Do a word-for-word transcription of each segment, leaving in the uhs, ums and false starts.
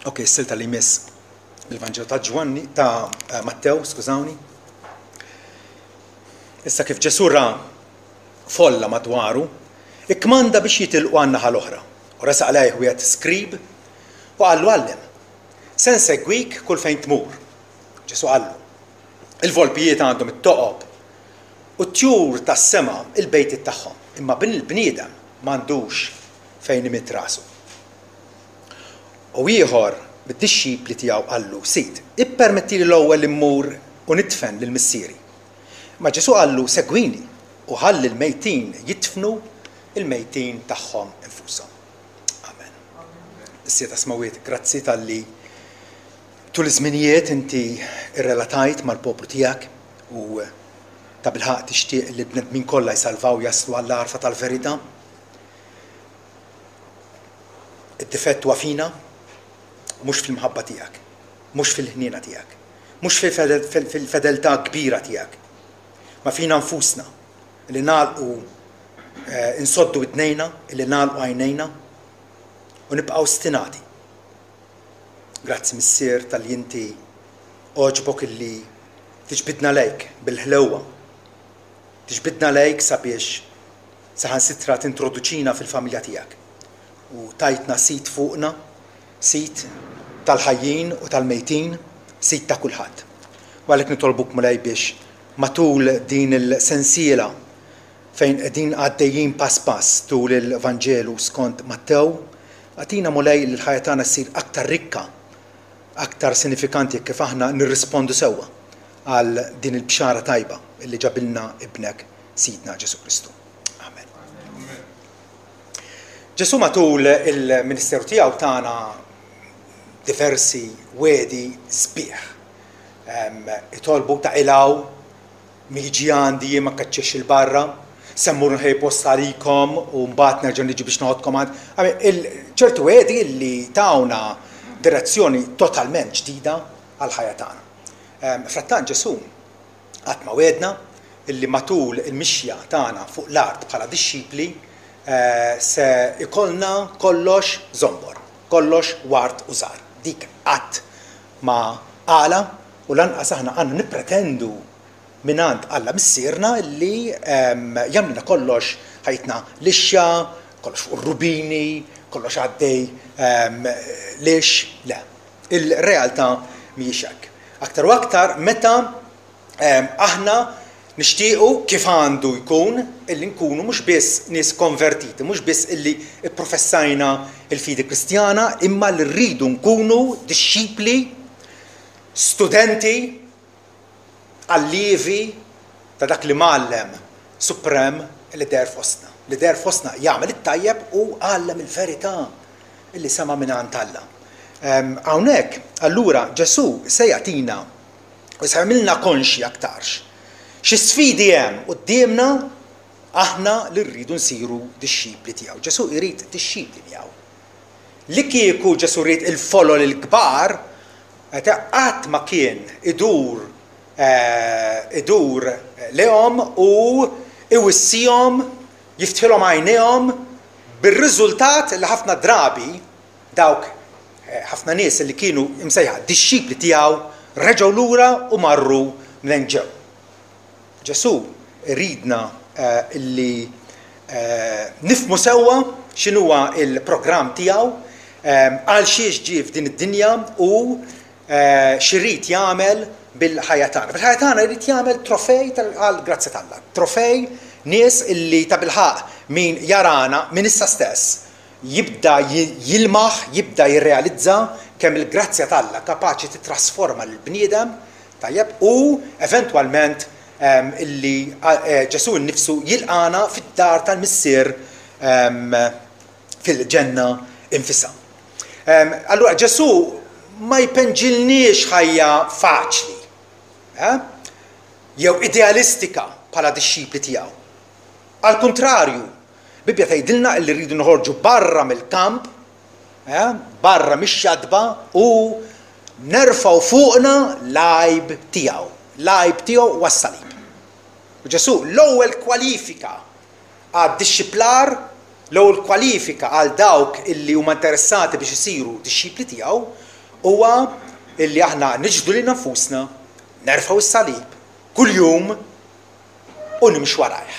Ok, s-silta li jmiss il-Vanġelu ta' Ġwanni, ta' eh, Mattew, skużawni. Issa kif Ġesù ra folla madwaru, ikkmanda biex jitilqu għan-naħa l-oħra. U resaq lejh wieħed skrib u qallu għallem, se nsegwik kull fejn tmur. Ġesù qallu, il-volpijiet għandhom it-toqob u t-tjur tas-sema il-bejtiet tagħhom, imma bin il-bniedem m'għandux fejn imidd rasu. U ieħor mid-dixxipli tiegħu qallu, Sid, ippermettili l-ewwel immur u nidfen lil missieri. Ma Ġesù qallu, segwini u ħalli l-mejtin jidfnu il-mejtin tagħhom infushom. Amen. Missier tas-Smewwiet, grazzi talli tul iż-żminijiet inti irrelatajt mal-poplu tiegħek u tabilħaqq tixtieq li bnedmin kollha jsalvaw jaslu għall-għarfa tal-verità. Id-difett huwa fina, mhux fil-mħabba tiegħek, mhux fil-ħniena tiegħek, mhux fil-fedeltà kbira tiegħek, ma fina nfusna li nagħlqu eh, insoddu widnejna, li nagħlqu għajnejna u nibqgħu stinati. Grazzi Missier talli inti għoġbok illi tiġbidna lejk bil-ħlewwa. Tiġbidna lejk sabiex saħansitra tintroduċina fil-familja tiegħek. U tajtna sit fuqna, sit tal-ħajjin u tal-mejtin, sit ta' kulħadd. U għalhekk nitolbuk Mulej biex matul din il-sensiela fejn qegħdin għaddejjin pass pass tul il-Vanġelu skont Mattew, agħtina Mulej li l-ħajja tagħna ssir aktar rikka, aktar sinifikanti kif aħna nirrispondu sewwa għal din il-bxara tajba illi ġabilna ibnek Sidna Ġesù Kristu. Amen. Ġesù matul il-ministeru tiegħu tana diversi wegħdi sbieħ. Itolbu taqilgħu min jiġi għandi jien ma nkeċċihx 'il barra, se mmur nħejji post għalikom u mbagħad nerġa' niġi biex noħodkom għand. ċertu wegħdi li tawna direzzjoni totalment ġdida għall-ħajja tagħna. Frattant Ġesù qatt ma wegħedna illi matul il-mixja tagħna fuq l-art bħala dixxipli se ikollna kollox żombor, kollox ward u żahar. Dik qatt ma qalha u lanqas aħna għandna nippretendu mingħand Alla Missierna li jagħmlilna kollox ħajtna lixxa, kollox fuq ir-rubini, kollox għaddej lix. Le, il-realtà mhijiex hekk. Aktar u aktar meta aħna nixtiequ kif għandu jkun illi nkunu mhux biss nies konvertiti, mhux biss illi pprofessajna l-fidi Kristjana, imma li rridu nkunu dixxipli, studenti, allievi ta' dak li mgħallem suprem li deher fostna, li deher fostna jagħmel it-tajjeb u għallem il-verità illi sema' mingħand Alla. Hawnhekk, allura, Ġesù se jagħtina u se jagħmilna konxji aktarx xi sfidi hemm quddiemna aħna li rridu nsiru dixxipli tiegħu. Ġesù jrid dixxipli miegħu. Li kieku Ġesù ried il-folol il-kbar, qatt ma kien idur idur lejhom u iwissihom, jiftħilhom għajnejhom bir-riżultat li ħafna drabi dawk ħafna nies li kienu imsejħa dixxipli tiegħu reġgħu lura u marru minn ġew. Ġesù iridna illi nifhmu sewwa x'inhuwa l-programm tiegħu, għal xiex ġie f'din id-dinja u x'irid jagħmel bil-ħajja tagħna. Bil-ħajja tagħna jrid jagħmel trofej għall-grazzja t'Alla. Trofej nies illi tabilħaqq min jarana minn issa stess jibda jilmaħ, jibda jirrealizza kemm il-grazzja t'Alla kapaċi titrasforma lill-bniedem, tajjeb, u eventwalment illi Ġesù nnifsu jilqagħna fid-dar tal-Missier fil-ġenna infisha. Allura Ġesù ma jpenġilniex ħajja faċli jew idealistika bħala dixxipli tiegħu. Għall-kuntrarju, Bibbja tgħidilna li rridu noħorġu barra mill-kamp, barra mix-xatba u nerfgħu fuqna l-għajb tiegħu. L-għajb tiegħu huwa s-salib. U Ġesù l-ewwel kwalifika għad-dixxiplar, l-ewwel kwalifika għal dawk illi huma interessati biex isiru dixxipli tiegħu huwa illi aħna niġdu lilna nfusna, nerfgħu s-salib kuljum u nimxu warajh.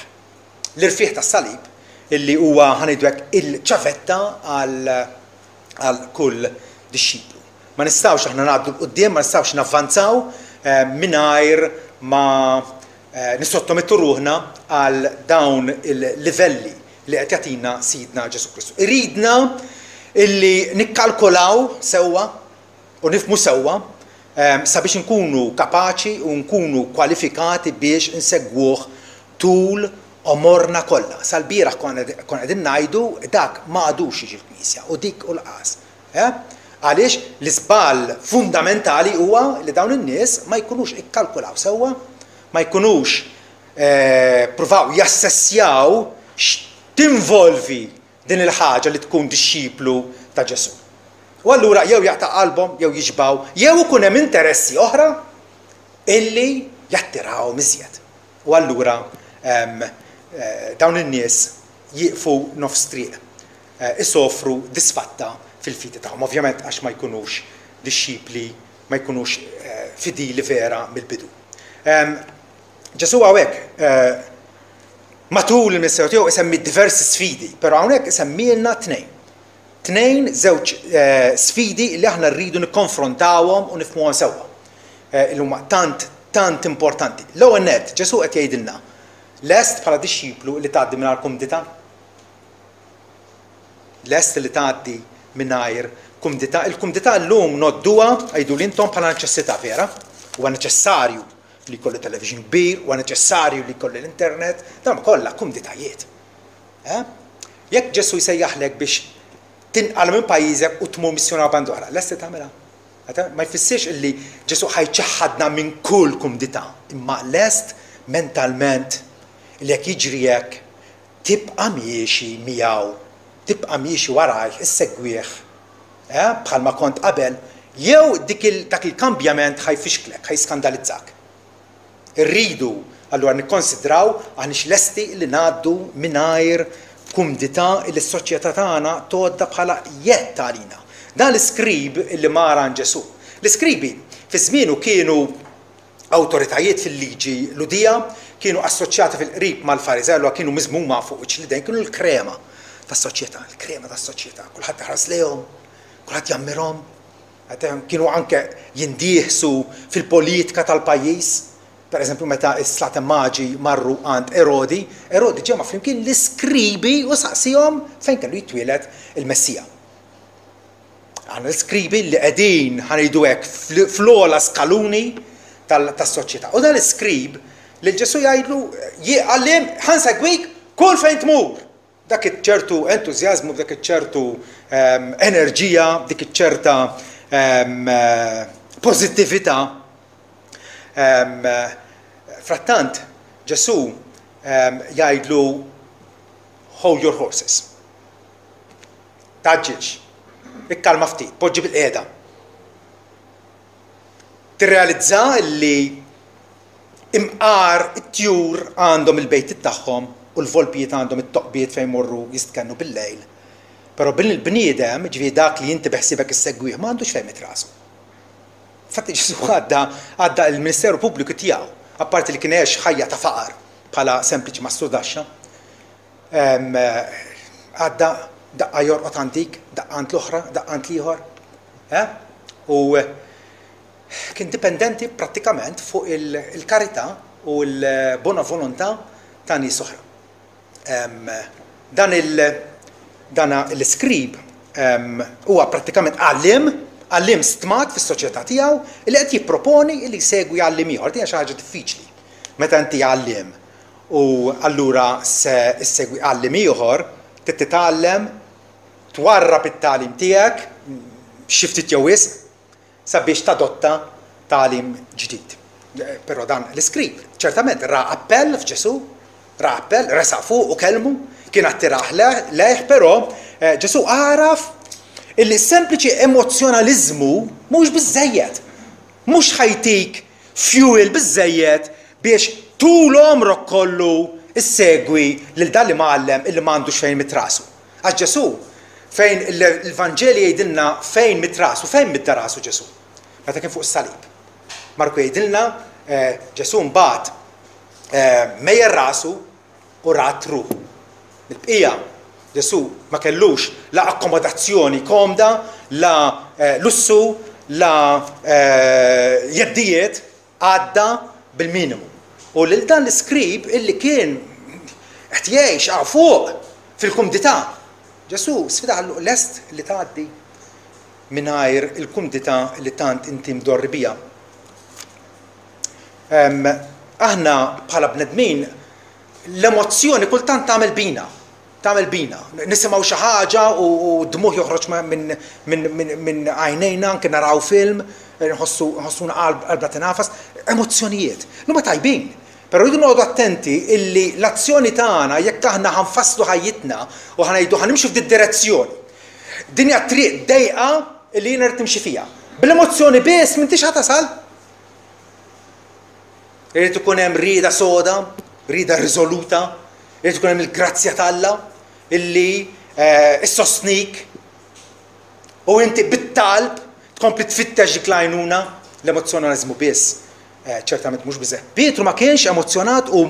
L-irfieħ tas-salib illi huwa, ħa ngħidu hekk, il-ċavetta għal kull dixxiplu. Ma nistgħux aħna ngħaddu 'l quddiem, ma nistgħux navvanzaw eh, mingħajr ma eh, nissottomettu ruħna għal dawn il-livelli li qed jagħtina Sidna Ġesù Kristu. Iridna illi nikkalkolaw sewwa u nifhmu sewwa eh, sabiex nkunu kapaċi u nkunu kwalifikati biex insegwuh tul għomorna kollha. Sal-bieraħ konna qegħdin ngħidu dak ma għadux jiġi l-Knisja u dik u l-qas. Eh? Għaliex l-iżball fundamentali huwa li dawn in-nies ma jkunux ikkalkulaw sewwa, ma jkunux eh, pruvaw jassessjaw x'tinvolvi din il-ħaġa li tkun dixxiplu ta' Ġesù. U allura jew jaqta' qalbhom, jew jiġbaw, jew ikun hemm interessi oħra illi jattiraw iżjed. U allura eh, dawn in-nies jieqfu nofs triq, eh, isofru disfatta fil-fidi tagħhom. Ovvjament għax ma jkunux dixxipli, ma jkunux eh, fidili vera mill-bidu. Ġesù hawnhekk matul il-ministeru tiegħu isemmi diversi sfidi, però hawnhekk isemmilna tnejn. Tnejn, żewġ sfidi li aħna rridu nikkonfrontawhom u nifhmuhom sewwa. Li huma tant tant importanti. L-ewwel nett, Ġesù qed jgħidilna: lest bħala dixxiplu li tgħaddi mingħajr kumdità? Lest li tgħaddi mingħajr kumdità? Il-kumdità llum ngħodduha, għidu intom, bħala neċessità, vera? Huwa neċessarju li jkollu television kbir, huwa neċessarju li jkollu l-internet, dawn kollha kumditajiet. Eh? Jekk Ġesù jsejjaħlek biex tinqal minn pajjiżek u tmur missjona band oħra, lest li tagħmilha? Ma jfissirx illi Ġesù ħa jċaħħadna minn kull kumdità, imma lest mentalment li jekk jiġri hekk tibqa' miexi miegħu, tibqa' miexi warajh, issegwih eh, bħalma kont qabel, jew dik il, dak il-kambjament ħa jfixklek, ħa jiskandalizzak? Irridu allura nikkonsidraw aħniex lesti li ngħaddu mingħajr kumdità li s-soċjetà tagħna tgħoddha bħala jett għalina. Dan l-iskrib li mar għand Ġesù. L-iskribi fi żmienu kienu awtoritajiet fil-liġi Lhudija, kienu assoċjati fil-qrib mal-Fariżew, allura kienu miżmuma fuq wiċċ l-idejn, kienu l-krema tas-soċjetà, l-krema tas-soċjetà. Kulħadd iħares lejhom, kulħadd jammirhom. Kienu anke jindieħsu fil-politika tal-pajjiż. Per eżempju, meta s-Slaten Maġi marru għand Erodi, Erodi ġemma flimkien l-iskribi u saqsihom fejn kellu jitwieled il-Messija. Għandna l-iskribi li qegħdin, ħa ngħidu hekk, fl-ogħla skaluni tas-soċjetà. U dan l-iskrib li Ġesù jgħidlu: "Għalliem, ħa nsegwik kull fejn tmur." Dak ċertu entużjażmu, dak ċertu ehm, enerġija, dik ċerta ehm, pożittività. Ehm, frattant, Ġesù jgħidlu: "Hold your horses. Tgħaġġilx, ikkalma ftit, poġġi bilqiegħda. Tirrealizza li imqar it-tjur għandhom il-bejt tagħhom u l-volpijiet għandhom it-toqbiet fejn morru jistkennu bil-lejl. Però bin il-bniedem, ġifieri dak li inti beħsibek issegwih, ma għandux fejn imidd rasu." Fatti Ġesù għadda għadda il-ministeru pubbliku tiegħu, apparti li kien għex ħajja ta' faqar bħala sempliċi mastrudaxxa, għadda daqqa jorqod għand dik, daqqa għand l-oħra, daqqa għand l-ieħor. Eh? U kien dipendenti prattikament fuq il-karità u l-bona volontà ta' nies oħra. Dan il- dana l-iskrib huwa prattikament għalliem, għalliem stmat fis-soċjetà tiegħu li qed jipproponi li jsegwi għalliem ieħor. Din hija xi ħaġa diffiċli. Meta inti għalliem u allura se issegwi għalliem ieħor, trid titgħallem twarrab it-tagħlim tiegħek xi ftit jew wisq sabiex tadotta tagħlim ġdid. Però dan l-iskrib ċertament ra appell f'Ġesù, ra appell, resaq fuq u kelmu, kien attirah lejh, però eh, Ġesù għaraf illi sempliċi emozjonalizmu mhux biżejjed. Mhux ħa jtik fuel biżejjed biex tul għomrok kollu issegwi lil dan l-imgħallem illi m'għandux fejn imidd rasu. Għax Ġesù Fejn il-Vanġeli jgħidilna fejn midd rasu, fejn midd rasu Ġesù? Meta kien fuq is-salib. Marku jgħidilna Ġesù mbagħad mejjel rasu u rat ruħu. Il-bqija Ġesù ma kellux la akkomodazzjoni komda, la lussu, la jeddijiet, għadda bil-minimu. U lil dan l-iskrib illi kien qed jgħix hawn fuq fil-kumdità, Ġesù sfida qallu lest li tgħaddi mingħajr il-kumdità li tant inti mdorri bija. Aħna bħala bnedmin l-emozzjoni kultant tagħmel bina, tagħmel bina. Nisimgħu xi ħaġa u d-dmuħ joħroġ minn għajnejna, anke naraw film, nħossuna qalbna tinafas, emozzjonijiet. Huma tajbin. Però rridu noqogħdu attenti illi l-azzjoni tagħna jekk aħna ħanfasslu ħajjitna u ħanejdu ħanimxu f'din direzzjoni. Din hija triq dejqa illi jiena rrid nimxi fiha. Bil-emozzjoni biss m'intix ħa tasal. Irid ikun hemm rieda soda, rieda riżoluta, irid ikun hemm il-grazzja t'Alla illi issostnik u inti bit-talb tkompli tfittex dik l-għajnuna. L-emozzjonaliżmu biss ċertament mhux biżejjed. Pietru ma kienx emozzjonat u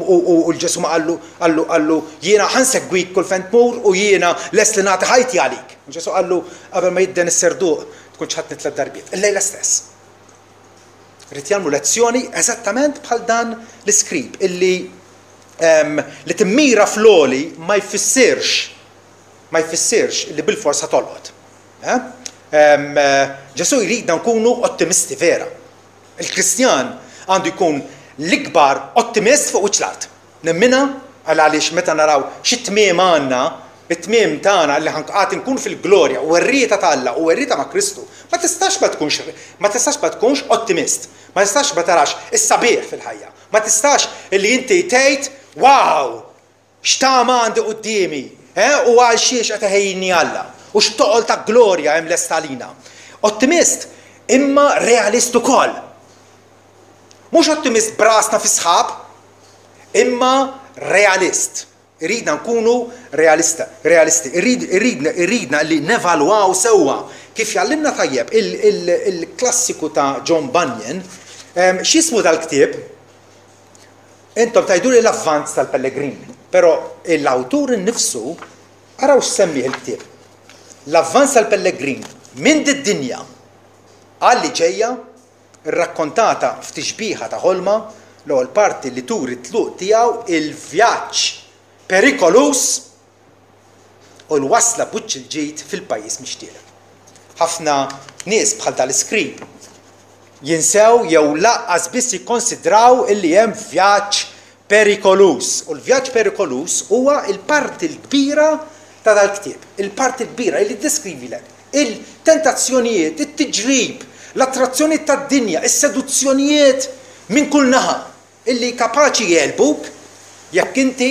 l-Ġesù ma qallu qallu qallu jiena ħansegwik kull fejn tmur u jiena lest li nagħti ħajti għalik. Ġesù qallu qabel ma jidden is-serduq tkun ċħadtni tliet darbiet. Illejla stess. Rrid jagħmlu lezzjoni eżattament bħal dan l-iskrib illi li timmira fl-għoli ma jfissirx ma jfissirx illi bil-forsa tolqot. Ġesù jridna nkunu ottimisti vera. Il-Kristjan għandu jkun l-ikbar ottimist fuq wiċċ l-art. Nemmina għal għaliex meta naraw xi tmiem għandna, it-tmiem tagħna li ħanqat nkun fil-glorja u r-rieda t'Alla u r-rieda ma' Kristu, ma tistax ma tkunx ma tistax ma tkunx ottimist, ma tistax ma tarax is-sabiħ fil-ħajja, ma tistax illi inti tgħid wow, x'tama għandi quddiemi, eh, u għal xiex qed iħejjini Alla u x'toqol ta' glorja hemm lest għalina. Ottimist imma realist ukoll. Mhux ottimist brasna fi sħab, imma realist. Irridna nkunu realista, realisti. Irridna, irridna li nevalwaw sewwa. Kif jgħallimna tajjeb il-klassiku ta' John Bunyan, x'jismu dal-ktieb? Intom tgħiduli l-avvanz tal-Pellegrin, però l-awtur innifsu araw x'semmih il-ktieb. L-avvanz tal-Pellegrin minn did-dinja għal li ġejja, rrakkontata f'tixbiha ta' ħolma, l-ewwel parti li turi tluq tiegħu il-vjaġġ perikolus u l-wasla b'wiċċ il-ġid fil-pajjiż mixtieq. Ħafna nies bħal dal-iskrib jinsew jew laqqas biss jikkonsidraw illi hemm vjaġġ perikolus. U l-vjaġġ perikolus huwa l-parti l-kbira ta' dal-ktieb, il-parti l-kbira illi ddeskrivilek il-tentazzjonijiet, it-tiġrib, l-attrazzjoni tad-dinja, is-seduzzjonijiet minn kull naħa illi kapaċi jgħelbuk jekk inti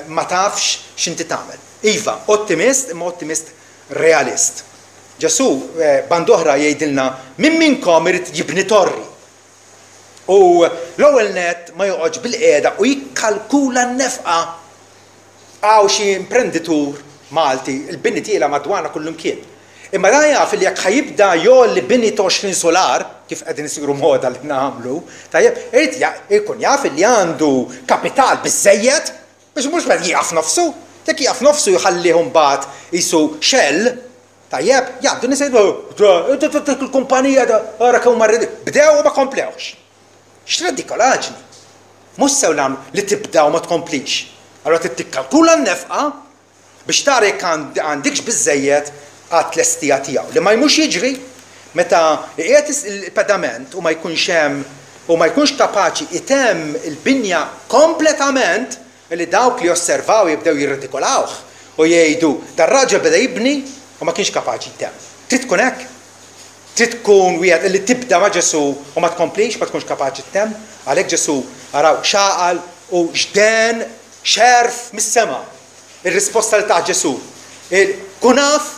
ma tafx x'inti tagħmel. Iva, ottimist imma ottimist realist. Ġesù band oħra jgħidilna min minnkom irid jibni torri u l-ewwel net ma joqgħodx bil-qiegħda u jikkalkula n-nefqa. Hawn xi imprenditur Malti, il-bini tiela madwarna kullimkien. Imma dan jaf li jekk ħajibda jgħolli bini ta' għoxrin solar, kif qegħdin isiru moda li nagħmlu, tajjeb, irid jkun jaf li għandu kapital biżejjed biex mhux meta jieqaf nofsu. Jekk jieqaf nofsu jħallih mbagħad qisu xell, tajjeb, jgħaddu nies jgħidu il-kumpanija ara kemm huma bdew u ma komplewx. X'redikolaġni! Mhux sew nagħmlu li tibda u ma tkomplix. Allura trid tikkalkula n-nefqa biex tara jekk għandikx biżejjed għat-tlestija tiegħu. Li ma jmux jiġri meta qiegħed il-pedament u ma jkunx hemm u ma jkunx kapaċi itemm il-binja kompletament, li dawk li osservaw jibdew jirredikolawh u jgħidu dar-raġel beda jibni u ma kienx kapaċi jtemm. Trid tkun hekk. Trid tkun wieħed li tibda ma' Ġesù u ma tkomplix, ma tkunx kapaċi ttemm. Għalhekk Ġesù araw xaqal u xden xerf mis-sema. Ir-risposta li ta' Ġesù. Kun af,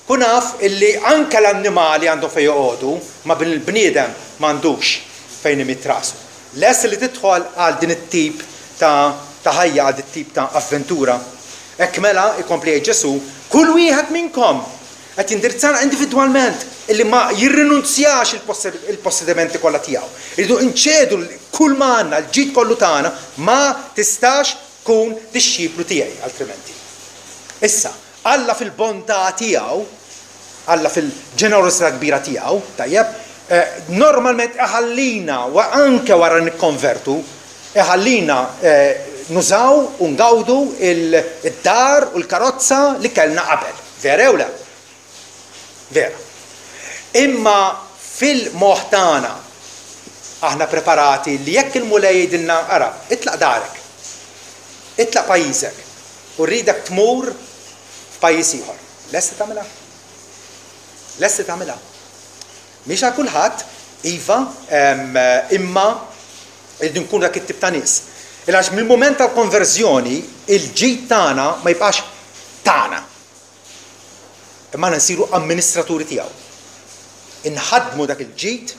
kun af illi anke l-annimali għandhom fejn joqogħdu, ma bil-bniedem m'għandux fejn imit rasu. Lest li tidħol għal din it-tip ta' ta' ħajja, għal dit tip ta' avventura. Hekk mela ikompli jgħid Ġesù, Kull wieħed minnkom qed jindirizzana individwalment illi ma jirrinunzjax il-possedimenti kollha tiegħu. Irridu nċedu kull ma għandna, l-ġid kollu tagħna, ma tistax tkun dixxiplu tiegħi altrimenti. Issa, Alla fil-bontà tiegħu, Alla fil-ġenerożità kbira tiegħu, tajjeb, normalment iħallina anke wara nikkonvertu, iħallina nużaw u ngawdu id-dar u l-karozza li kellna qabel. Vera jew le? Vera. Imma fil-moħħ tagħna aħna preparati li jekk il-Mulej jgħidilna ara, itlaq darek, itlaq pajjiżek u rridek tmur f'pajjiż ieħor. Lesti tagħmilha? Lesti tagħmilha? Mhix għal kulħadd, iva, imma irridu nkunu dak it-tip ta' nies. Għax mill-mument tal-konverżjoni il-ġid tagħna ma jibqax tagħna. Imma aħna nsiru amministraturi tiegħu. Inħaddmu dak il-ġid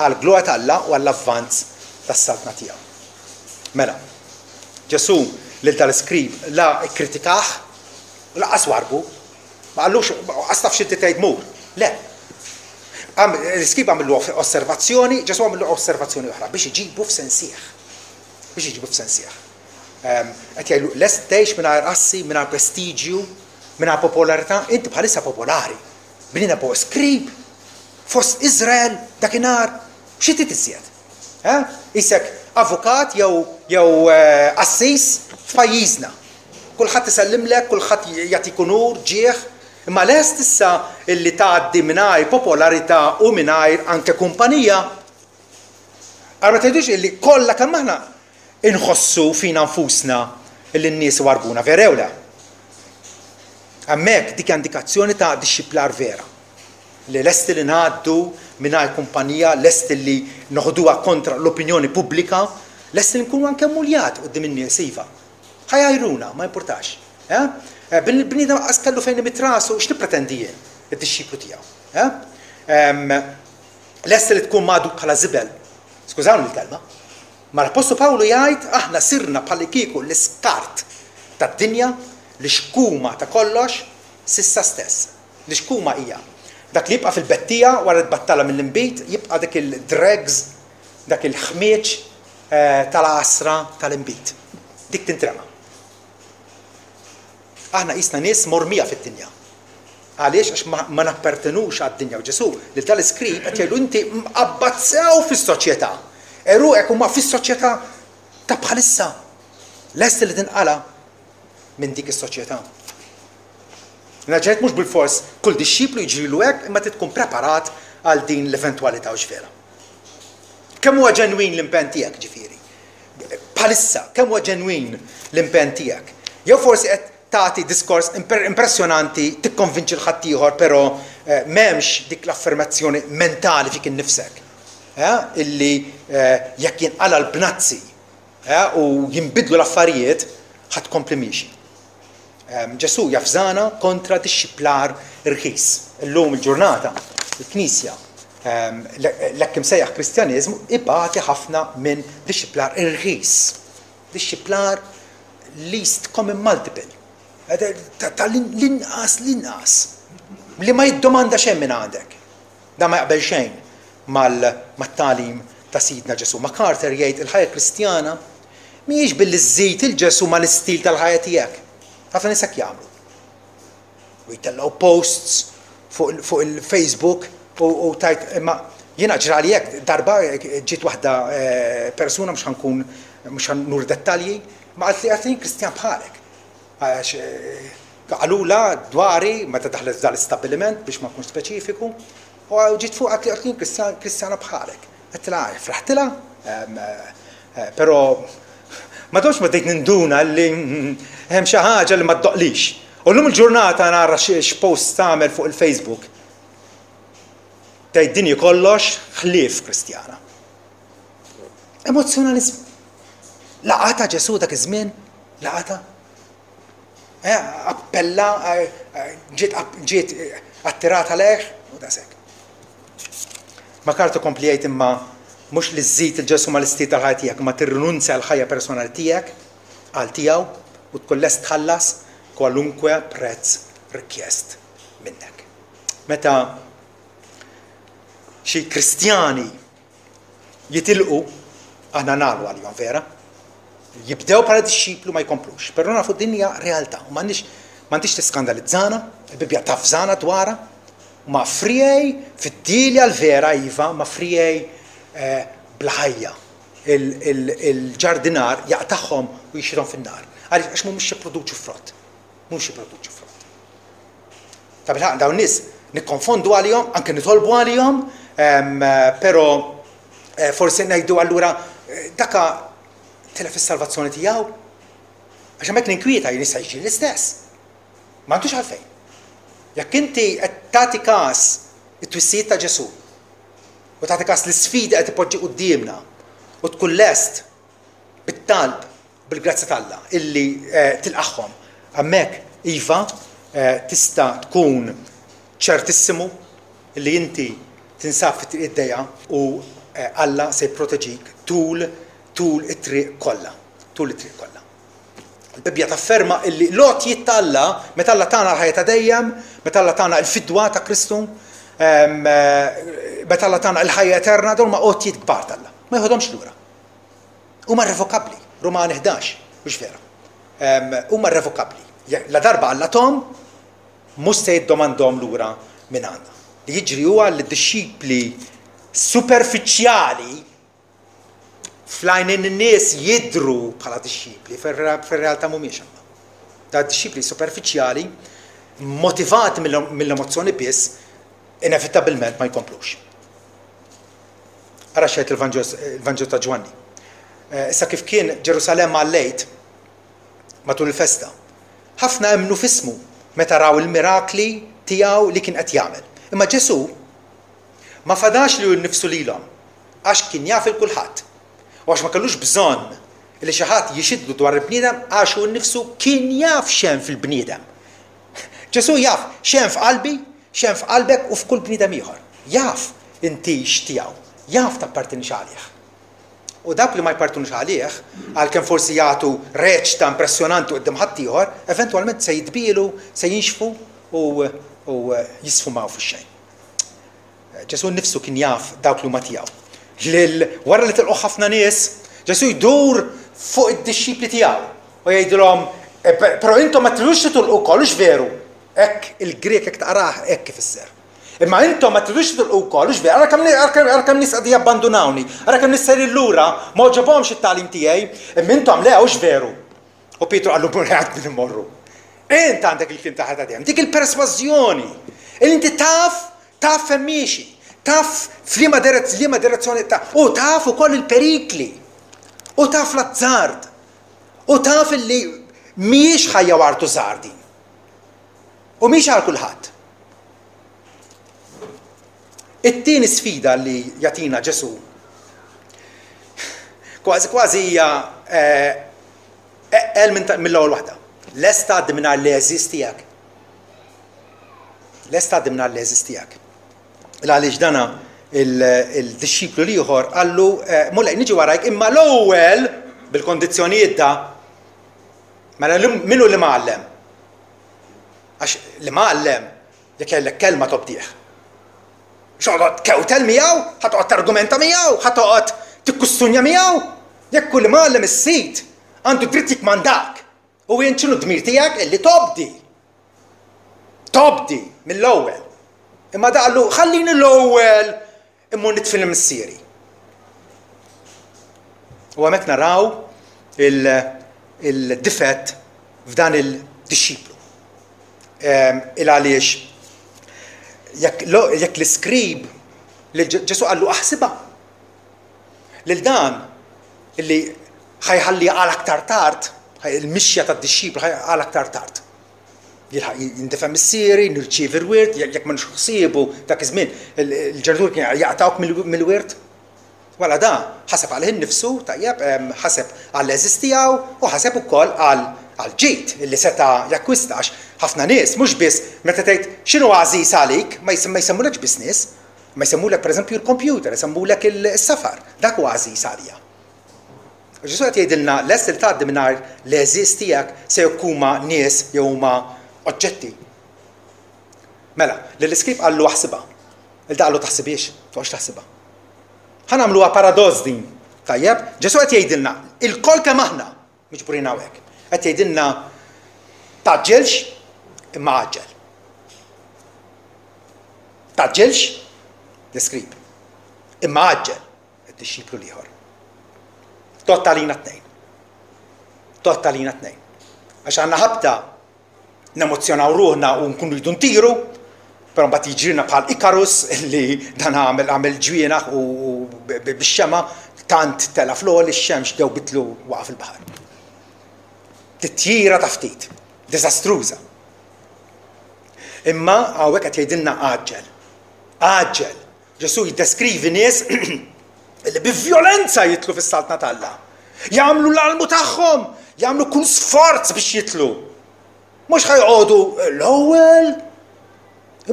għal glorja t'Alla u għall-avvanz tas-saltna tiegħu. Mela, Ġesù lil tal-iskrib la kkritikah u lanqas warbu, ma qallux qas taf x'inti tgħid mur. Le. L-iskrib għamillu osservazzjoni, Ġesù għamillu osservazzjoni oħra biex iġibu f'sensih. Biex iġibu f'sensih. Qed jgħidlu lest tgħix mingħajr assi, mingħajr prestiġju, mingħajr popolarità, inti bħalissa popolari. Bnina po skrib fost Izrael dakinhar, xi trid iżjed? Isek avukat jew jew qassis f'pajjiżna. Kulħadd isellimlek, kulħadd jagħtik unur, ġieħ, imma lest issa illi tgħaddi mingħajr popolarità u mingħajr anke kumpanija. Ara ma tgħidux illi kollha kemm aħna inħossu fina nfusna illi n-nies warbuna, vera jew le? Hemmhekk dik indikazzjoni ta' dixxiplar vera. Li lesti li ngħaddu mingħajr kumpanija, lesti li noħduha kontra l-opinjoni pubblika, lesti li nkunu anke muljat quddiem in-nies iva. Ħajajruna, ma importax. Bil-bniedem qas kellu fejn imitrasu, x'nippretendi jien, id-dixxiplu tiegħu. Lesti li tkun magħdud bħala żibel. Skużawni l-kelma. Ma l-Appostlu Pawlu jgħid aħna sirna bħal kieku l-iskart tad-dinja, l-xkuma ta' kollox sissa stess. L-xkuma hija dak li jibqa' fil-bettija wara tbattala mill-inbid, jibqa' dak il-dregs, dak il-ħmieġ tal-għasra tal-inbid. Dik tintrema. Aħna qisna nies mormija fid-dinja. Għaliex? Għax ma nappertenux għad-dinja. U Ġesù lil tal-iskrib qed jgħidu inti mqabbad sew fis-soċjetà. Eruqek huma fis-soċjetà ta' bħalissa. Lest li tinqala minn dik is-soċjetà. Naġġejt mhux bil-fors kull dixxiplu jiġrilu hekk, imma trid tkun preparat għal din l-eventwalità u x'vera. Kemm huwa ġenwin l-impenn tiegħek ġifieri? Bħalissa, kemm huwa ġenwin l-impenn tiegħek? Jew forsi qed tagħti diskors impressjonanti, tikkonvinċi l-ħaddieħor, però m'hemmx dik l-affermazzjoni mentali fik innifsek. Illi jekk jinqala l-bnazzi u jinbidlu l-affarijiet, ħadd tkompli miexi. Ġesù jafżana kontra dixxiplar irħis. Illum il-ġurnata, il-Knisja, l-hekk imsejjaħ Kristjaniżmu ibati ħafna minn dixxiplar irħis. Dixxiplar least common multiple. Ta' l-inqas l-inqas. Li ma jiddomanda xejn minn għandek. Da ma jaqbel xejn mat-tagħlim ta' Sidna Ġesù. MacArthur jgħid il-ħajja Kristjana mhijiex billi żżid il-Ġesù mal-istil tal-ħajja tiegħek. Ħafna nies hekk jagħmlu. U jtellgħu posts fuq il-Facebook u tajt imma jiena ġrali hekk darba ġiet waħda persuna mhux ħankun mhux ħanur dettalji, ma qalt li qalt li Kristjan bħalek. Għax qalula dwari meta daħlet f'dan l-istabbiliment biex ma nkunx speċifiku, u ġiet fuq qalt li qalt li Kristjana bħalek. Għedtilha fraħtilha, però ma domx ma bdejt ninduna li hemm xi ħaġa li ma ddoqlix. U llum il-ġurnata nara x'post tagħmel fuq il-Facebook. Tgħid dinji kollox ħlief Kristjana. Emozzjonaliżmu. Laqata Ġesù dak iż-żmien, laqata. Appella, ġiet ġiet attirata lejh u daqshekk. MacArthur kompli jgħid imma mhux li żżid il-Ġesù mal-istil tal-ħajja tiegħek, imma tirrinunzja l-ħajja personali tiegħek għal tiegħu u tkun lest tħallas kwalunkwe prezz rikjest minnek. Meta xi Kristjani jitilqu, aħna nagħlu għalihom vera, jibdew bħala dixxiplu ma jkomplux, però nafu din hija realtà u m'għandix m'għandix tiskandalizzana, il-Bibbja tafżana dwarha, ma friegħi fid-dielja l-vera iva, ma friegħi eh, bla ħajja. Il-ġardinar jaqtagħhom u jixrihom fin-nar. Għaliex għax mhumiex jipproduċu frott. Mhux jipproduċu frott. Ta' bilħaqq dawn nies nikkonfondu għalihom, anke nitolbu għalihom, però eh, forsi ngħidu allura eh, daka tilef is-salvazzjoni tiegħu. Għax hemmhekk ninkwieta jien jista' jiġri l-istess. M'għandux għalfejn. Jekk inti qed tagħti każ it-twissijiet ta' Ġesù u tagħti każ l-isfidi qed ipoġġi quddiemna u tkun lest bit-talb bil-grazzja t'Alla illi eh, tilqagħhom, hemmhekk iva eh, tista' tkun ċertissimu illi inti tinsab fit-triq id-dejja u eh, Alla se jipproteġik tul tul it-triq kollha, tul it-triq kollha. Il-Bibbja tafferma illi l-għotjiet t'Alla, meta Alla tana l-ħajja ta' dejjem, meta Alla tana l-fidwa ta' Kristu, meta Alla tana l-ħajja eterna, dawn ma għotjiet kbar t'Alla. Ma jħodhomx lura. Huma irrevokabbli. Rumani ħdax, mhux vera. Huma irrevokabbli. La darba Alla tahom, mhux se jiddomandhom lura minn għandna. Li jiġri huwa li d-dixxipli superfiċjali fl-għajnejn in-nies jidhru bħala dixxipli, fir-realtà mhumiex imma. Da dixxipli superfiċjali motivati mill-emozzjoni biss inevitabilment ma jkomplux. Ara xejt il-Vanġelu ta' Ġwanni. Eh, issa kif kien Ġerusalemm għall-Għid matul il-festa, ħafna emmnu f'ismu meta raw il-mirakli tiegħu li kien qed jagħmel. Imma Ġesù ma fadax lilu nnifsu lilhom għax kien jaf il kulħadd. U għax ma kellux bżonn li xi ħadd jixhidlu dwar il-bniedem għax hu nnifsu kien jaf x'hemm fil-bniedem. Ġesù jaf x'hemm f'qalbi, x'hemm f'qalbek u f'kull bniedem ieħor. Jaf intix tiegħu, jaf tappartinix għalih. U dawk li ma jpartunux għalih, għalkemm forsi jagħtu reċta impressjonanti quddiem ħaddieħor, eventwalment se jitbielu, se jinxfu u, u jisfumaw fix-xejn. Ġesù nnifsu kien jaf dawk li huma tiegħu. Lil wara li tilqu ħafna nies, Ġesù jdur fuq id-dixxipli tiegħu u jgħidilhom, eh, però intom ma tridux titilqu wkoll, hux veru. Hekk il-Grek hekk taqrah hekk ifisser. Imma intom ma tridux titilqu wkoll, hux veru, ara kemm ara kemm nies qegħdin jabbandunawni, ara kemm nies sejrin lura, ma għoġobhomx it-tagħlim tiegħi, imma intom le, hux veru. U Pietru qallu għand min immorru. Int għandek il-kliem ta' ħajja dejjem, dik il-persważjoni. Il inti taf, taf fejn miexi, taf f'liema liema direzzjoni ta' u taf ukoll il-perikli. U taf l-azzard. U taf illi mhijiex ħajja wartu żgħar din. U mhix għal kulħadd. It-tieni sfida li jagħtina Ġesù kważi kważi hija eqqel mill-ewwel waħda. Lest tgħaddi mingħajr l-għeżież tiegħek. Lest tgħaddi mingħajr l-għeżież tiegħek. Għaliex dana il-dixxiplu l-ieħor qallu Mulej niġi warajk imma l-ewwel bil-kondizzjonijiet da mela min hu l-imgħallem? Għax l-imgħallem jekk jgħidlek kelma tobdih. X'toqgħod tkewtel miegħu, ħa toqgħod targumenta miegħu, ħa toqgħod tikkustunja miegħu. Jekk hu l-imgħallem is-sid għandu dritt jikkmandak. U int x'inhu d-dmir tiegħek illi tobdi. Tobdi mill-ewwel. Imma da qallu ħallini l-ewwel immur nidfin lil missieri. U hemmhekk naraw il-difett f'dan il-dixxiplu. Il għaliex jekk l-iskrib li Ġesù qallu aħsibha lil dan illi ħajħalli għal aktar tard, il-mixja tad-dixxiplu għal aktar tard. Jilħaq jindifen missieri, nirċievi l-wirt, jekk ma ħsiebu dak iż-żmien, il-ġenitur kien jaqtawk mill-wirt. Wala da, ħaseb għalih innifsu, tajjeb, ħaseb għall-għeżież tiegħu u ħaseb ukoll għal ġid illi seta' jakkwista għax ħafna nies mhux biss meta tgħid x'inhu għażiż għalik, ma jsemmulekx biss nies, ma jsemmulek pereżempju l-kompjuter, jsemmulek is-safar, dak huwa għażiż għalija. U Ġesù qed jgħidilna lest li tgħaddi mingħajr l-għeżież tiegħek se jekk huma nies jew huma oġġetti. Mela, lill-iskrib qallu aħsibha. Lil da qallu taħsibhiex, toqgħodx taħsibha. Ħa nagħmluha paradoss din. Tajjeb, Ġesù qed jgħidilna, ilkoll kemm aħna miġburin hawnhekk. Qed jgħidilna tgħaġġilx imma għaġġel. Tgħaġġilx, l-iskrib. Imma għaġġel, id-dixxiplu l-ieħor. Tgħodd għalina t-tnejn. Tgħodd għalina t-tnejn. Għax għandna ħabta nemozzjonaw ruħna u nkunu rridu ntiru, però mbagħad jiġrilna bħal Ikarus li dan għamel għamel ġwienaħ u bix-xema tant tela' fl-għoli x-xemx dewbitlu waqa' fil-baħar. Titjira ta' ftit, diżastruża. Imma hawnhekk qed jgħidilna għaġġel. Għaġġel. Ġesù jiddeskrivi nies li bi vjolenza jidħlu fis-saltna t'Alla. Jagħmlu l-almu tagħhom, jagħmlu kull sforz biex jidħlu. Mhux ħa joqogħdu l-ewwel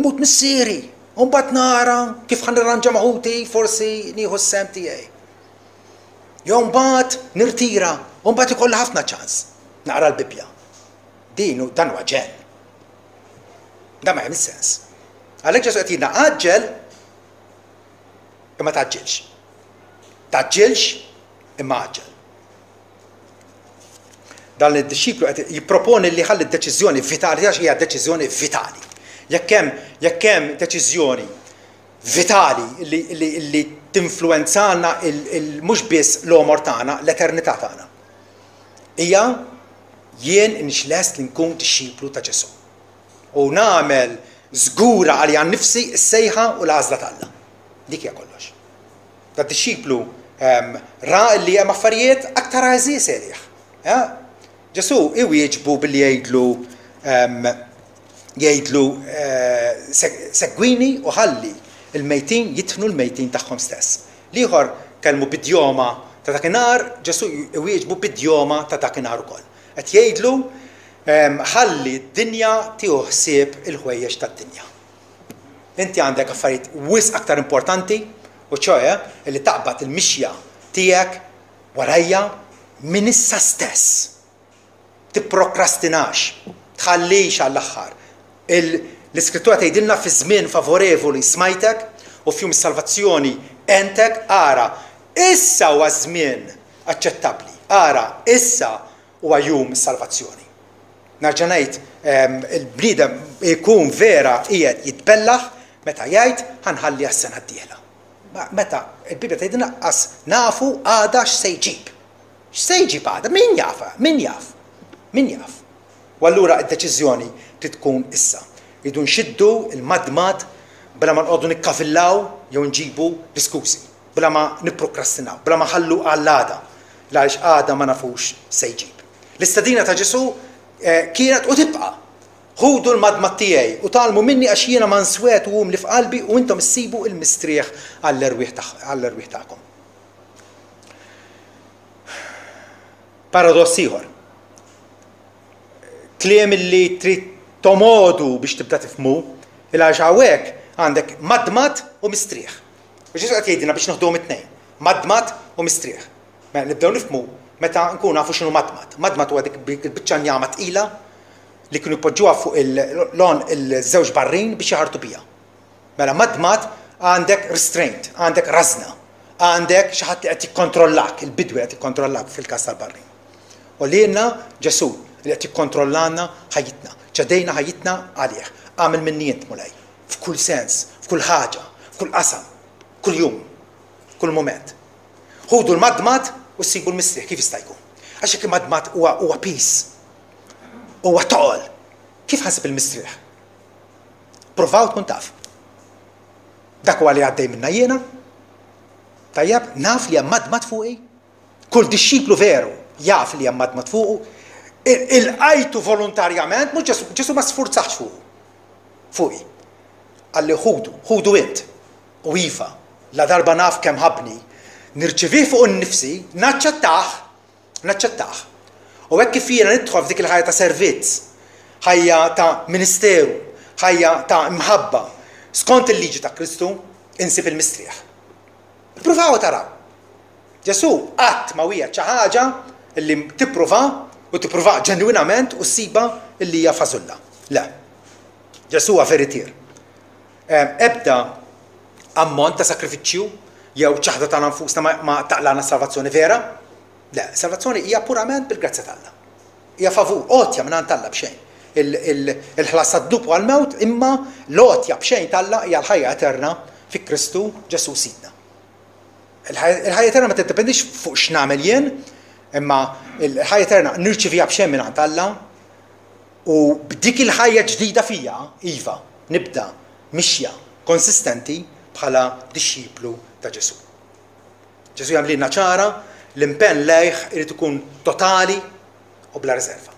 imut missieri, u mbagħad nara kif ħa nirranġa ma' ħuti forsi nieħu s-sehem tiegħi. Jew mbagħad nirtira, u mbagħad ikolli ħafna ċans naqra l-Bibbja. Din dan huwa ġenn. Dan ma jagħmel sens. Għalhekk Ġesù qed jgħidna għaġġel imma tgħaġġilx. Tgħaġġilx imma għaġġel. Dan id-dixxiplu qed jipproponi li ħalli d-deċiżjoni vitali għax hija deċiżjoni vitali. Jekk hemm jekk hemm deċiżjoni vitali li, li, li tinfluwenzana mhux biss l-għomor tagħna, l-eternità tagħna. Hija jien inix lest li nkun dixxiplu ta' Ġesù. U nagħmel żgura għalija nnifsi s-sejħa u l-għażla t'Alla. Dik hija kollox. Da dixxiplu ra li hemm affarijiet aktar għażiż għalih. Ġesù iwieġbu billi jgħidlu jgħidlu segwini u ħalli il-mejtin jidfnu l-mejtin tagħhom stess. L-ieħor kellmu b'idjoma ta' dakinhar, Ġesù iwieġbu b'idjoma ta' dakinhar ukoll. Qed jgħidlu ħalli d-dinja tieħu ħsieb il-ħwejjeġ tad-dinja. Inti għandek affarijiet wisq aktar importanti, u ċoe li taqbad il-mixja tiegħek warajja minn issa stess. Tipprokrastinax, tħallix għall-aħħar. L-Iskrittura tgħidilna fi żmien favorevoli smajtek u f'jum is-salvazzjoni għentek, ara, issa huwa żmien aċċettabbli. Ara, issa huwa jum is-salvazzjoni. Nerġa' ngħid, il-bniedem ikun vera qiegħed jitbellaħ meta jgħid ħa nħalli għas-sena d-dieħla. Meta il-Bibbja tgħidilna qas nafu għada x'se jġib. X'se jġib għada? Min jaf? Min jaf? Min jaf? U allura d-deċiżjoni trid tkun issa. Irridu nxiddu l-madmad bla ma nqogħdu nikkavillaw jew nġibu l-iskużi, bla ma nipprokrastinaw, bla ma nħallu għall-għada, għaliex għada ma nafux se jġib. L-istedina ta' Ġesù kienet u tibqa', Ħudu l-madmad tiegħi u tgħallmu minni għax jiena manswet u umli f'qalbi u intom issibu l-mistrieħ għall-erwieħ tagħkom. Paradoss ieħor. Kliem li trid tomodu biex tibda tifhmu, il għaliex hawnhekk għandek madmad u mistrieħ. U Ġesù qed jgħidilna biex noħduhom it-tnejn, madmad u mistrieħ. Mela nibdew nifhmu meta nkunu nafu x'inhu madmad. Madmad huwa dik il-biċċa njama tqila li kienu jpoġġuha fuq l-għonq il-żewġ barrin biex jaħartu biha. Mela madmad għandek restraint, għandek rażna, għandek xi ħadd li qed jikkontrollak, il-bidwi qed jikkontrollak fil-każ tal-barrin. U lilna Ġesù li qed jikkontrollana ħajjitna, ċedejna ħajjitna għalih. Agħmel minni int, Mulej, f'kull sens, f'kull ħaġa, f'kull qasam, kull jum, kull mument. Ħudu l-madmad u ssibu l-mistrieħ, kif jista' jkun? Għax jekk il-madmad huwa huwa piż, huwa toqol, kif ħa nsib il-mistrieħ? Provaw tkun taf. Dak huwa li għaddej minna jiena. Tajjeb, naf li hemm madmad fuqi. Kull dixxiplu veru jaf li hemm madmad fuqu. Ilqajtu volontarjament, mhux Ġesù, Ġesù ma sfurzax fuqu. Fuqi. Qalli ħudu, ħudu int. U iva, la darba naf kemm ħabbni, nirċivih fuq innifsi, naċċettah, naċċettah. U hekk kif jiena nidħol f'dik il-ħajja ta' servizz, ħajja ta' ministeru, ħajja ta' imħabba, skont il-liġi ta' Kristu, insib il-mistrieħ. Ippruvaw u taraw. Ġesù qatt ma wiegħed xi ħaġa li tippruva u tippruva ġenwinament u ssibha li hija fażulla. Le. Ġesù huwa veritier. Ebda ammont ta' sakrifiċċju jew ċaħda tagħna nfusna ma taqlana salvazzjoni vera. Le, salvazzjoni hija purament bil-grazzja t'Alla. Hija favur, għotja minn għand Alla b'xejn. Il-ħlas tad-dnub u għall-mewt, imma l-għotja b'xejn t'Alla hija l-ħajja eterna fi Kristu Ġesù Sidna. Il-ħajja eterna ma tiddependix fuq x'nagħmel jien, imma l-ħajja eterna nirċiviha b'xejn minn għand Alla u b'dik il-ħajja ġdida fija, iva, nibda mixja konsistenti bħala dixxiplu ta' Ġesù. Ġesù jagħmlilna ċara l-impenn lejh irid ikun totali u bla riserva.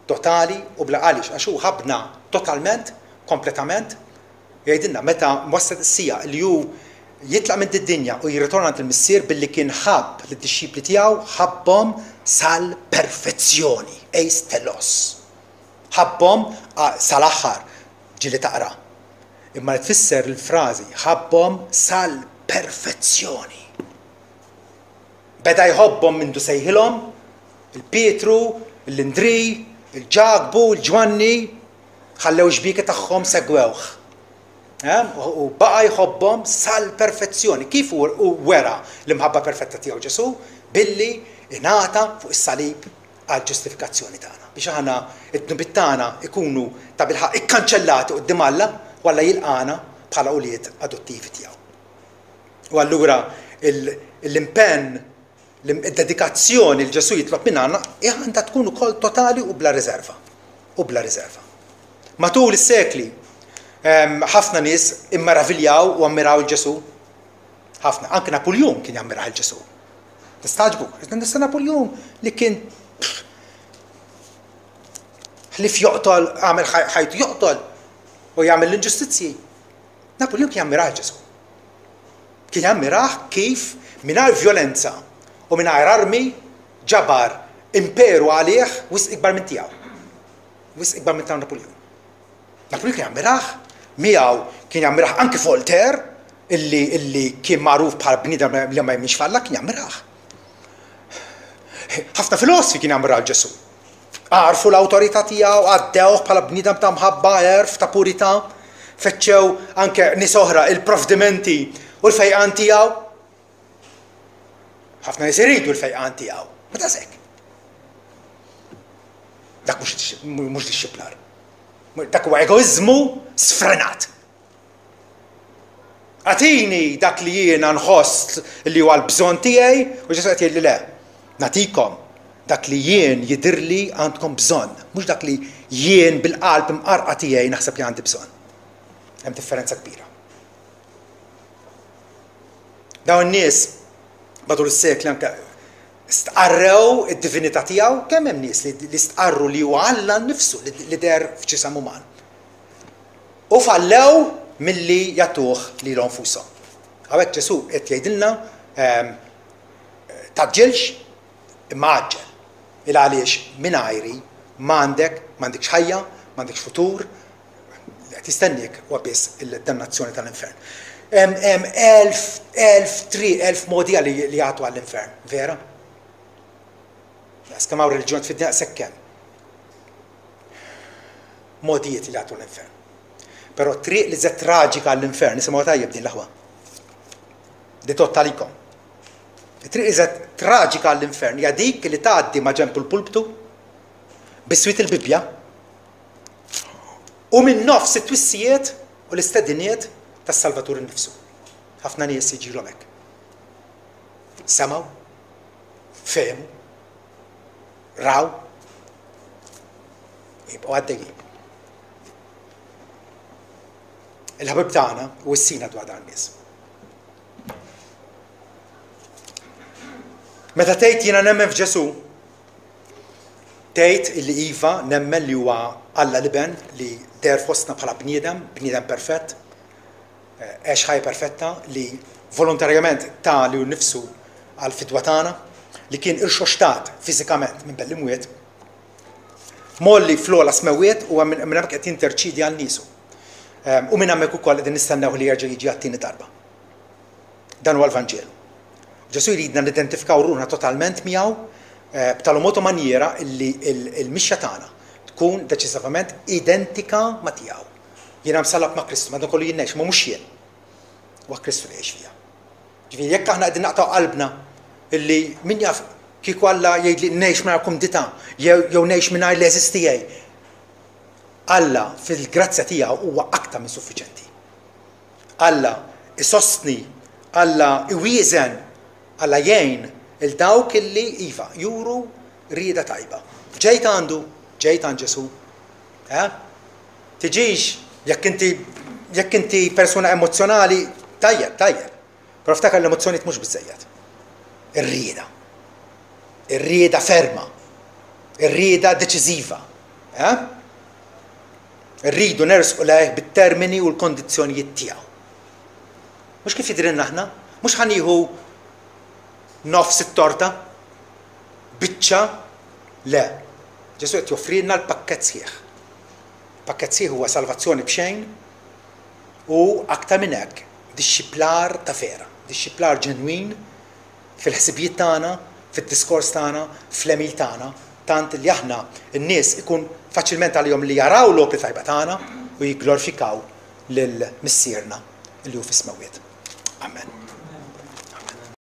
Totali u bla għaliex, għax hu ħabbna totalment, kompletament. Jgħidilna meta waslet is-sija li hu jitlaq minn id-dinja u jirritorna għand il-Missier billi kien ħabb lid-dixxipli tiegħu, ħabbhom sal-perfezzjoni, eis telos. Ħabbhom sal-aħħar, ġieli taqra. Imma li tfisser il-frażi ħabbhom sal-perfezzjoni. Beda jħobbhom mindu sejħilhom, il-Pietru, l-Indri, il-Ġakbu, il-Ġwanni, ħallew xbieki tagħhom segwewh. U baqa jħobbhom sal-perfezzjoni. Kif u wera l-imħabba perfetta tiegħu Ġesù? Billi ingħata fuq is-salib għal ġustifikazzjoni tagħna. Biex aħna id-dnubiet tagħna ikunu ta' bilħaqq ikkanċellati quddiem Alla u Alla jilqana bħala ulied adottivi tiegħu. U allura l-impenn, id-dedikazzjoni li Ġesù jitlob minn għandna għandha tkun ukoll totali u bla riserva. U bla riserva. Matul is-sekli ħafna nies immeraviljaw u ammiraw il-Ġesù. Ħafna, anke Napoleon kien jammiraw il-Ġesù. Tistaġbu, nista' Napoleon li kien ħlif joqtol, għamel ħajtu joqtol u jagħmel l-inġustizzji. Napoleon kien jammiraw il-Ġesù. Kien jammiraw kif mingħajr violenza u mingħajr armi ġabar imperu għalih wisq ikbar minn tiegħu. Wisq ikbar minn ta' Napoleon. Napoleon kien jammiraħ, miegħu kien jammiraħ anke Voltaire, illi, illi kien magħruf bħal bniedem li ma jemminx f'Alla, kien jammiraħ. Ħafna filosfi kien jammiraħ Ġesù. Għarfu l-awtorità tiegħu, għaddewh bħala bniedem ta' mħabba, għerf, ta' purità, fettxew anke nies oħra il-provdimenti u l-fejqan tiegħu. Ħafna nies iridu l-fejqan tiegħu, ma daqshekk. Dak mhux dixxiplar. Dak huwa egoiżmu sfrenat. Agħtini dak li jiena nħoss li huwa l-bżonn tiegħi u Ġesù qed jgħidli le. Nagħtikom dak li jien jidhirli għandkom bżonn, mhux dak li jien bil-qalb imqarqa tiegħi naħseb li għandi bżonn. Hemm differenza kbira. Dawn in-nies matul is-sekli anke stqarrew id-divinità tiegħu, kemm hemm nies li stqarru li huwa Alla nnifsu li deher f'ġisem uman. U fallew milli jagħtuh lilhom nfushom. Hawnhekk Ġesù qed jgħidilna taġġilx imma għaġġel. Il għaliex mingħajri m'għandek, m'għandekx ħajja, m'għandekx futur, qed jistennik huwa biss il-dannazzjoni tal-infern. Hemm elf, elf triq, elf modi li jagħtu għall-infern, vera? Kemm hawn reliġjon fid-dinja daqshekk hemm. Modijiet li jagħtu l-infern. Però triq li żed traġika għall-infern, nisimgħu tajjeb din l-aħwa. Di tot talikom. Triq li żed traġika għall-infern hija dik li tgħaddi ma' ġenb il-pulptu biswit il-Bibbja u minn nofs it-twissijiet u l-istediniet tas-Salvatur innifsu. Ħafna nies jiġilhom hekk. Semgħu, fehmu, raw, jibqgħu għaddejjin. Il-ħabib tagħna u s-sina dwar dan nies. Meta tgħid jiena nemmen f'Ġesù, tgħid illi iva nemmen li huwa Alla l-Iben li deher fostna bħala bniedem, bniedem perfett, għex ħajja perfetta li volontarjament ta lilu nnifsu għal fidwa tagħna, li kien irxoxtat fiżikament minn bel imwiet, molli fl-ogħla smewwiet u minn hemmhekk qed jinterċidi għal niesu. U minn hemmhekk ukoll qegħdin nistennew li jerġa' jiġi għat-tieni darba. Dan huwa l-Vanġelu. Ġesù jridna nidentifikaw ruħna totalment miegħu b'tal mod u manjiera illi il-mixja tagħna tkun deċiżivament identika ma' tiegħu. Jiena msallab ma' Kristu, madankollu jien ngħix, ma mhux jien. Huwa Kristu li jgħix fija. Ġifieri jekk aħna qegħdin naqtgħu qalbna illi min jaf kieku Alla jgħidli ngħix mingħajr kumdità jew jew ngħix mingħajr l-għeżież tiegħi. Alla fil-grazzja tiegħu huwa aktar minn suffiċenti. Alla isostni, Alla iwieżen, Alla jgħin il dawk illi iva juru rieda tajba. Ġejt għandu, ġejt għand Ġesù. Eh? Tiġix jekk inti jekk inti persuna emozzjonali, tajjeb, tajjeb. Però ftakar, l-emozzjonijiet mhux biżejjed. Ir-rieda. Ir-rieda ferma. Ir-rieda deċiżiva. Eh? Irridu nersqu lejh bit-termini u l-kondizzjonijiet tiegħu. Mhux kif jidhrilna aħna, mhux ħa nieħu nofs it-torta, biċċa, le. Ġesù qed joffrilna l-pakkett sħiħ. Pakkett sħiħ huwa salvazzjoni b'xejn u aktar minn hekk dixxiplar ta' vera, dixxiplar ġenwin fil-ħsibijiet tagħna, fid-diskors tagħna, fl-għemil tagħna, tant li aħna n-nies ikun faċilment għalihom li jaraw l-opri tajba tagħna u jigglorifikaw lil Missierna li hu fis-smewwiet. Amen.